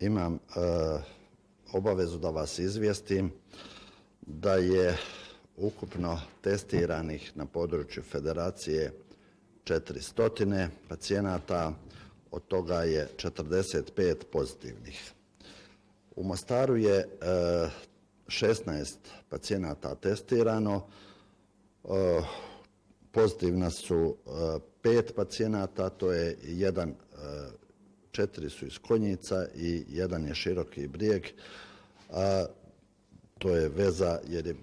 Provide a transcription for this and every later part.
imam obavezu da vas izvijestim da je ukupno testiranih na području Federacije 400 pacijenata, od toga je 45 pozitivnih. U Mostaru je 16 pacijenata testirano, pozitivna su 5 pacijenata, to je 4 su iz Konjica i 1 je Široki Brijeg. To je veza jer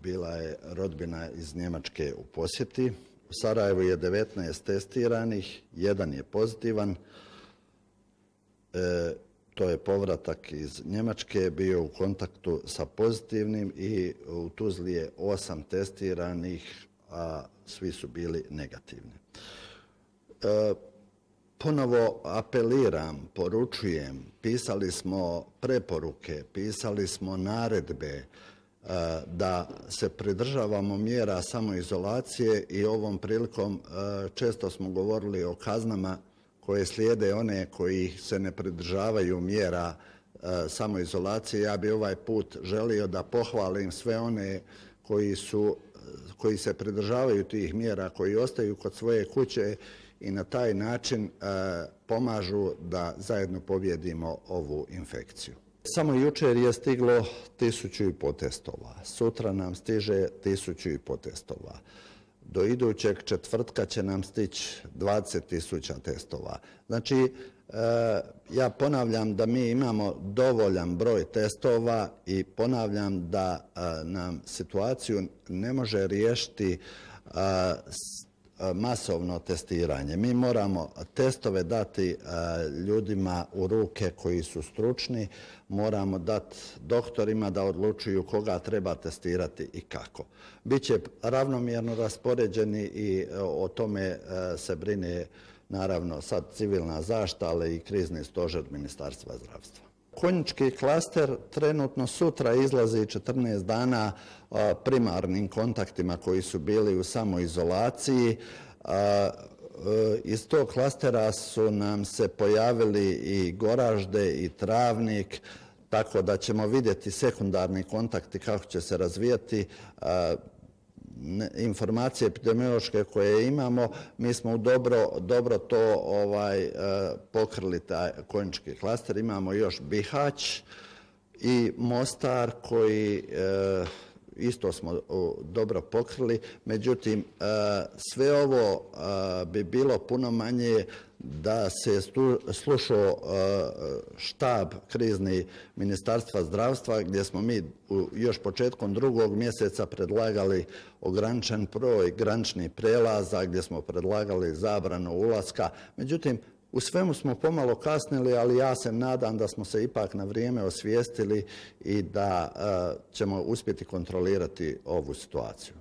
bila je rodbina iz Njemačke u posjeti. U Sarajevu je 19 testiranih, 1 je pozitivan. To je povratak iz Njemačke, bio u kontaktu sa pozitivnim i u Tuzli je 8 testiranih, a svi su bili negativni. Ponovo apeliram, poručujem, pisali smo preporuke, pisali smo naredbe da se pridržavamo mjera samoizolacije i ovom prilikom često smo govorili o kaznama koje slijede one koji se ne pridržavaju mjera samoizolacije. Ja bi ovaj put želio da pohvalim sve one koji se pridržavaju tih mjera, koji ostaju kod svoje kuće i na taj način pomažu da zajedno pobijedimo ovu infekciju. Samo jučer je stiglo 1500 testova, sutra nam stiže 1500 testova. Do idućeg četvrtka će nam stići 20.000 testova. Znači, ja ponavljam da mi imamo dovoljan broj testova i ponavljam da nam situaciju ne može riješiti masovno testiranje. Mi moramo testove dati ljudima u ruke koji su stručni, moramo dati doktorima da odlučuju koga treba testirati i kako. Biće ravnomjerno raspoređeni i o tome se brine naravno sad civilna zaštita, ali i krizni stožer Ministarstva zdravstva. Konjički klaster trenutno sutra izlazi 14 dana primarnim kontaktima koji su bili u samoizolaciji. Iz tog klastera su nam se pojavili i Goražde i Travnik, tako da ćemo vidjeti sekundarni kontakti kako će se razvijati. Informacije epidemiološke koje imamo, mi smo dobro to pokrili taj konjički klaster. Imamo još Bihać i Mostar koji isto smo dobro pokrili. Međutim, sve ovo bi bilo puno manje da se slušao štab krizni Ministarstva zdravstva, gdje smo mi još početkom 2. mjeseca predlagali ograničen broj graničnih prelaza, gdje smo predlagali zabranu ulaska. Međutim, u svemu smo pomalo kasnili, ali ja se nadam da smo se ipak na vrijeme osvijestili i da ćemo uspjeti kontrolirati ovu situaciju.